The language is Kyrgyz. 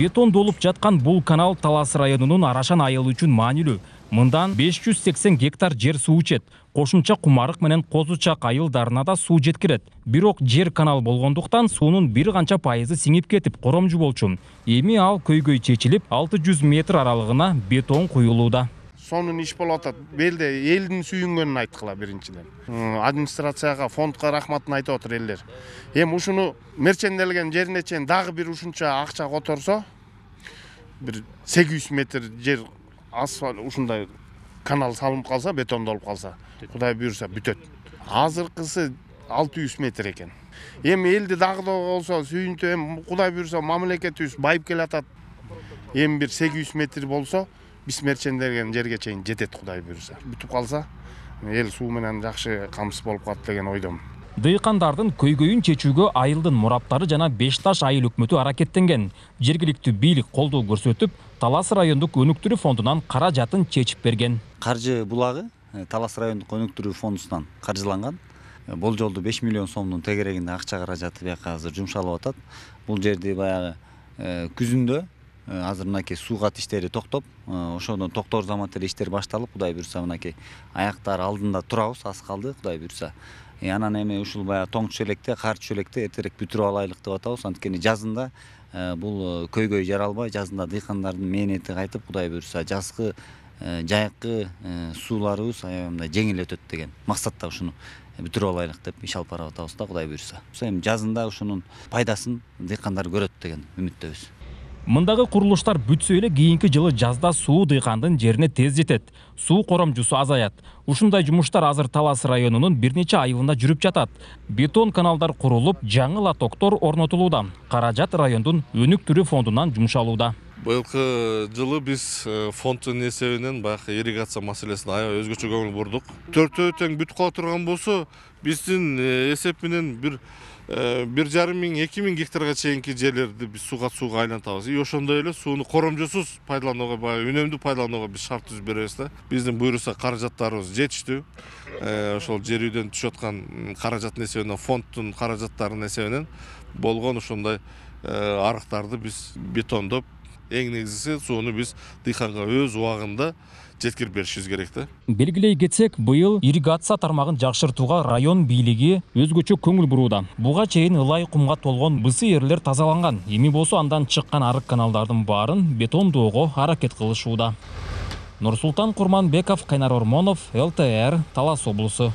Бетондолуп жаткан бул канал Талас районунун Арашан айылы үчүн маанилүү. Мындан 580 гектар жер суу ичет. Кошумча Кумарык менен Козучак айылдарына да суу жеткирет. Бирок жер канал болгондуктан суунун бир канча пайызы сиңип кетип, коромжу болчу. Эми ал көйгөй чечилип, 600 метр аралыгына бетон куюлууда. Сонун иш болуп атат. Белде элдин сүйүнгөнүн айткыла биринчиден. Администрацияга, фондко рахматын айтып отур элдер. Эми ушуну мерченделген жерине чейин дагы бир ушунча акча которсо, бир 800 метр жер асфальт ушундай канал салынып калса, бетондолуп калса, Кудай буйруса бүтөт. Азыркысы 600 метр экен. Эми элди дагы да болсо сүйүнтүп, эми Кудай буйруса мамлекетибиз байып келатат. Эми бир 800 метр болсо, биз мерченделген жерге чейин жетет, Кудай буйруса. Бүтүп калса, эл суу менен жакшы камсыз болуп калат деген ойдомун. Дыйкандардын көйгөйүн чечүүгө айылдын мураптары жана Бешташ айыл өкмөтү аракеттенген. Жергиликтүү бийлик колдоо көрсөтүп, Талас райондук өнүктүрүү фондунан каражатын чечип берген. Каржы булагы Талас райондук өнүктүрүү фондунан каржыланган. Болжолду 5 миллион сомдун тегерегинде акча каражаты бияка азыр жумшалып атат. Бул жерди баягы күзүндө азыр мынакей суу кат иштери токтоп, ошондон токтор замат эле иштер башталып, Кудай буйруса мынакей аяктар алдында турабыз, аз калды, Кудай буйруса. Анан эми ушул баягы тоң чөлекте, кар чөлекте эртерээк бүтүрүп алайлык деп атабыз. Анткени жазында бул көйгөй жаралбай, жазында дыйкандардын мээнети кайтып, Кудай буйруса жазгы жайкы сууларыбыз аябай жеңил өтөт деген максатта ушуну бүтүрүп алайлык деп иш алып барып атабыз да, Кудай буйруса. Эми жазында ушунун пайдасын дыйкандар көрөт деген үмүттөбүз. Мындагы курулуштар бүтсө эле кийинки жылы жазда суу дыйкандын жерине тез жетет. Суу коромжусу азаят. Ушундай жумуштар азыр Талас районунун бир нече айылында жүрүп жатат. Бетон каналдар курулуп, жаңы лотоктор орнотулууда. Каражат райондун өнүктүрүү фондунан жумшалууда. Быйылкы жылы биз фонддун эсебинен баягы ирригация маселесине аябай өзгөчө көңүл бурдук. Төртөө тең бүтүп кала турган болсо, биздин эсеп менен 1,5–2 миң гектарга чейинки жерлерди биз сууга айлантабыз. Ошондой эле сууну коромжусуз пайдаланууга, баягы үнөмдүү пайдаланууга биз шарт түзүп беребиз да. Биздин буйруса каражаттарыбыз жетиштүү. Ошол жер үйдөн түшүп аткан каражаттын эсебинен, фонддун каражаттарынын эсебинен болгон ошондой арыктарды биз бетондоп, эң негизгиси сууну биз дыйканга өз убагында жеткирип беришибиз керек да. Белгилей кетсек, быйыл ирригация тармагын жакшыртууга район бийлиги өзгөчө көңүл бурууда. Буга чейин ылай кумга толгон бысы эрлер тазаланган. Эми болсо андан чыккан арык каналдардын баарын бетондоого аракет кылышууда. Нурсултан Курманбеков, Кайнар Ормонов, ЛТР, Талас облусу.